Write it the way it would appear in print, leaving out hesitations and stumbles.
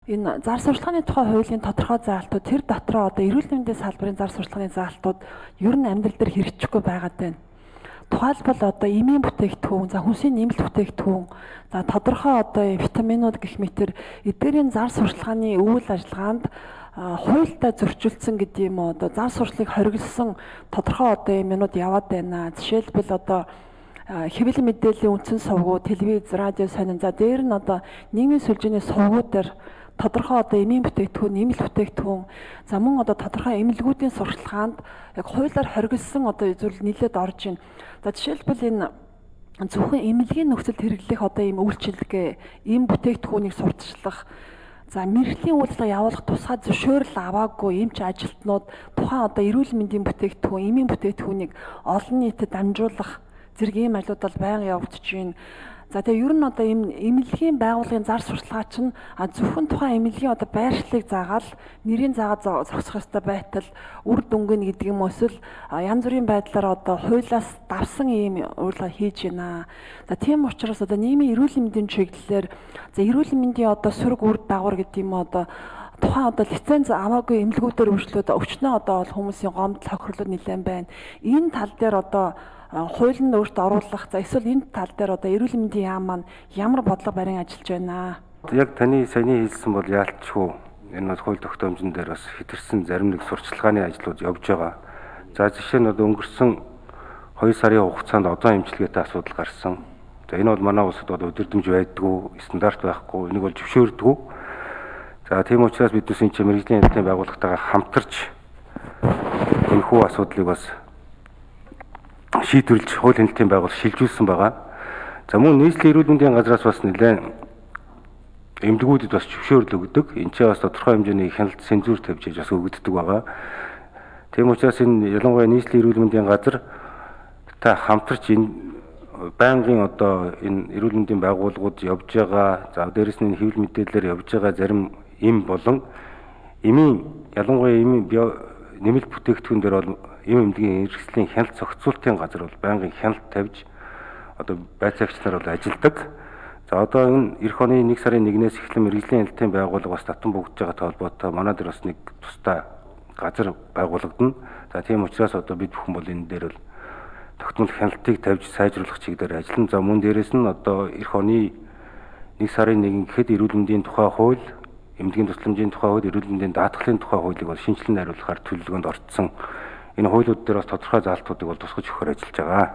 Энэ зар сурталчилгааны тухай хуулийн тодорхой заалтууд тэр дотроо одоо эрүүл мэндийн салбарын зар сурталчилгааны заалтууд ер нь амьдрал дээр хэрэгжихгүй байгаад байна. Тухайлбал одоо эмийн бүтээгдэхүүн, за хүнсийн нэмэлт бүтээгдэхүүн, за тодорхой одоо витаминууд гэх мэтэр эдгээрийн зар сурталчилгааны үйл ажиллагаанд хуультай зөрчилдсөн гэдэг юм уу одоо зар сурталчилгааг хориглосон тодорхой одоо юм юмуд яваад байна. Жишээлбэл одоо хэвлэл мэдээллийн үндсэн сувгууд, телевиз, радио сонин за дээр нь одоо нийгмийн сүлжээний сувгууд дээр тодорхой одоо эмийн бүтээгдэхүүн, нэмэлт бүтээгдэхүүн, за мөн одоо тодорхой эмнэлгүүдийн сурталчилгаанд яг хуулиар хориглосон одоо зүйл нийлээд орж ийн. За жишээлбэл энэ зөвхөн эмнэлгийн нөхцөлд хэрэглэх одоо ийм үйлчилгээ, эм бүтээгдэхүүнийг сурталчлах, за мэрэгжлийн үйлчлэг явуулах тусгай зөвшөөрөл аваагүй эмч ажилтнууд тухайн одоо эрүүл мэндийн бүтээгдэхүүн, эмийн бүтээгдэхүүнийг олон нийтэд дамжуулах зэрэг ийм ажлууд бол байнга явагдаж байна. За тэгээ ер нь одоо эмнэлгийн байгууллагын зар сурталчилгаа чинь зөвхөн тухайн эмнэлгийн одоо байршлыг заагаал нэрийн заагаад зогсох ёстой байтал үр дүнгийн гэдэг юм эсвэл янз бүрийн байдлаар одоо хуулиас давсан ийм урилга хийж байна. За тийм учраас одоо нийгмийн эрүүл мэндийн чиглэлээр за эрүүл мэндийн одоо сөрөг үр дагавар гэдэг юм одоо тухайн одоо лиценз аваагүй эмнэлгүүдээр үйлчлүүд өчнөө одоо хүмүүсийн гомдол хохирлууд нэлээд байна. Энэ тал дээр одоо хууль нь өөртөө оруулах за эсвэл энэ тал дээр одоо эрүүл мэндийн яам маань ямар бодлого барин ажиллаж байна. Яг таны саяны хэлсэн бол яалтчгүй энэ бол хууль тогтоомжн дээр бас хэтэрсэн зарим нэг сурталчилгааны ажлууд явж байгаа. За жишээ нь одоо өнгөрсөн 2 сарын хугацаанд одоо эмчилгээтэй асуудал гарсан. За энэ бол манай улсад бол удирдамж байдгүй, стандарт байхгүй, энийг бол зөвшөөрдөггүй. За тийм учраас бид энэ чинь мэрэгжлийн хэлтийн байгууллагатайгаа хамтарч энэхүү асуудлыг бас шийдвэрлэж хууль хэлтийн байгууллага шилжүүлсэн байгаа. За мөн нийслэлийн эрүүл мэндийн газраас бас нэлээд эмнэлгүүдэд бас зөвшөөрөл өгдөг. Энд чинь бас тодорхой хэмжээний хяналт цензур тавьж бас өгөгддөг байгаа. Тийм учраас энэ ялангуяа нийслэлийн эрүүл мэндийн газар та хамтарч энэ байнгын одоо энэ эрүүл мэндийн байгууллагууд явж байгаа. За дээрэс нь хэвлэл мэдээлэлээр явж байгаа зарим эм болон эмийн ялангуяа эмийн нэмэлт бүтээгдэхүүн дээр бол эм эмнэлгийн хэрэгслийн хяналт зохицуулалтын газар бол байнгын хяналт тавьж одоо байцаагч нар бол ажилдаг. За одоо энэ эх оны 1 сарын 1-ээс эхлэн мэрэгжлийн хэлтийн байгууллага бас татан бүгдж байгаа холбоотой манай дээр бас нэг тусдаа газар байгуулагдана. За тийм учраас одоо бид бүхэн бол энэ дээр бол тогтмол хяналтыг тавьж сайжруулах чиглэлээр ажиллана. За мөн дээрэс нь одоо эх оны 1 сарын 1 гэхэд эрүүл мэндийн тухай хууль, эмнэлгийн тусламжийн тухай хууль, эрүүл мэндийн даатгалын тухай хуулийг бол шинжилэн найруулахаар төлөвлөгөөнд орцсон. Энэ хуулиуд дээр бас тодорхой заалтуудыг бол тусгаж өгөхөөр ажиллаж байгаа.